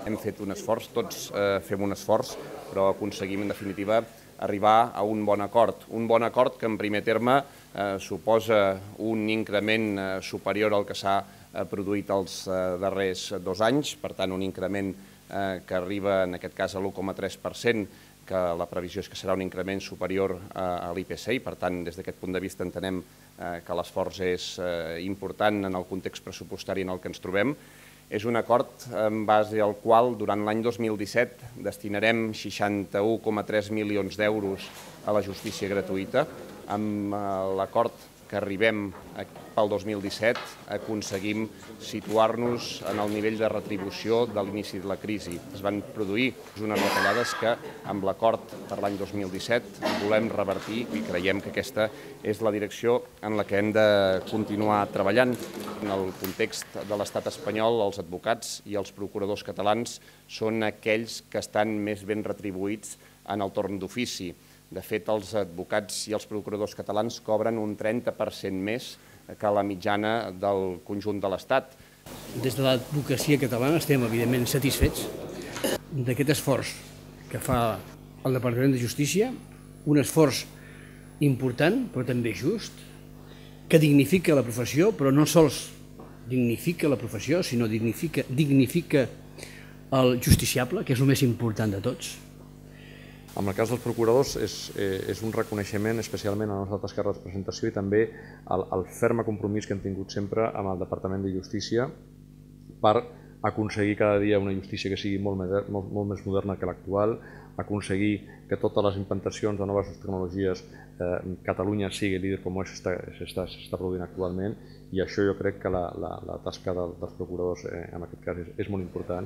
Hem fet un esforç, tots fem un esforç, però aconseguim, en definitiva, arribar a un bon acord. Un bon acord que, en primer terme, suposa un increment superior al que s'ha produït els darrers 2 anys, per tant, un increment que arriba, en aquest cas, a l'1,3%, que la previsió és que serà un increment superior a l'IPC i, per tant, des d'aquest punt de vista entenem que l'esforç és important en el context pressupostari en el que ens trobem. És un acord en base al qual durant l'any 2017 destinarem 61,3 milions d'euros a la justícia gratuïta. Amb l'acord que arribem pel 2017 aconseguim situar-nos en el nivell de retribució de l'inici de la crisi. Es van produir unes retallades que amb l'acord per l'any 2017 volem revertir i creiem que aquesta és la direcció en la que hem de continuar treballant. En el context de l'estat espanyol, els advocats i els procuradors catalans són aquells que estan més ben retribuïts en el torn d'ofici. De fet, els advocats i els procuradors catalans cobren un 30% més que la mitjana del conjunt de l'Estat. Des de l'advocacia catalana estem, evidentment, satisfets d'aquest esforç que fa el Departament de Justícia, un esforç important, però també just, que dignifica la professió, però no sols dignifica la professió, sinó dignifica el justiciable, que és el més important de tots. En el cas dels procuradors és un reconeixement especialment a la nostra tasca de representació i també el ferm compromís que hem tingut sempre amb el Departament de Justícia per aconseguir cada dia una justícia que sigui molt més moderna que l'actual, aconseguir que totes les implantacions de noves tecnologies Catalunya sigui líder com s'està produint actualment, i això jo crec que la tasca dels procuradors en aquest cas és molt important.